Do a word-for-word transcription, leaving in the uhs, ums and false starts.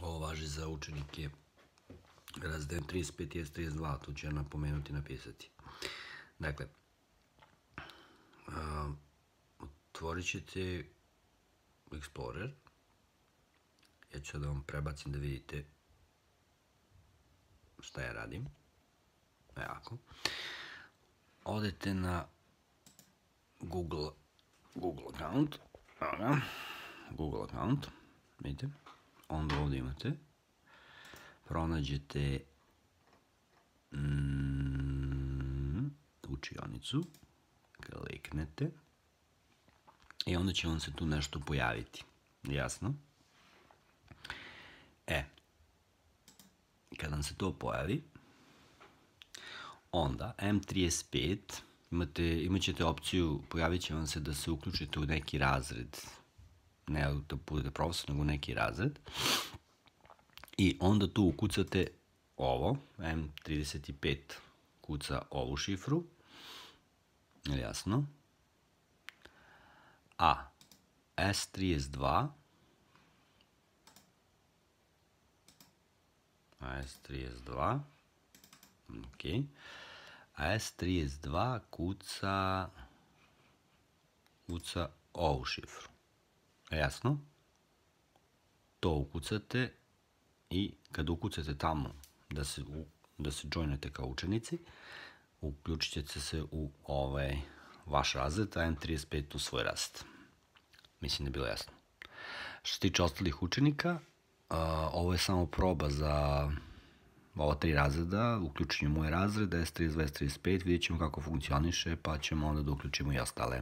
Ovo važi za učenike razreda M trideset pet i S trideset dva, tu ću ja napomenuti i napisati. Dakle, otvorit ćete Explorer. Ja ću da vam prebacim da vidite šta ja radim. Evo. Odete na Google, Google account. Google account. Vidite. Onda ovdje imate. Pronađete mm, učionicu. Kliknete. I onda će vam se tu nešto pojaviti. Jasno? E. Kad vam se to pojavi, onda M trideset pet imate, imat ćete opciju, pojavit će vam se da se uključite u neki razred. Ne da budete profesor, nego u neki razred. I onda tu ukucate ovo, M trideset pet kuca ovu šifru. Jasno? A S trideset dva A S trideset dva ok. A S trideset dva kuca kuca ovu šifru. Jasno? To ukucate i kad ukucate tamo da se, da se joinete kao učenici, uključit ćete se u ovaj vaš razred, a M trideset pet u svoj razred. Mislim da je bilo jasno. Što se tiče ostalih učenika, ovo je samo proba za ova tri razreda, uključenje moj razred, S trideset dva, S trideset pet, vidjet ćemo kako funkcioniše, pa ćemo onda da uključimo i ostale.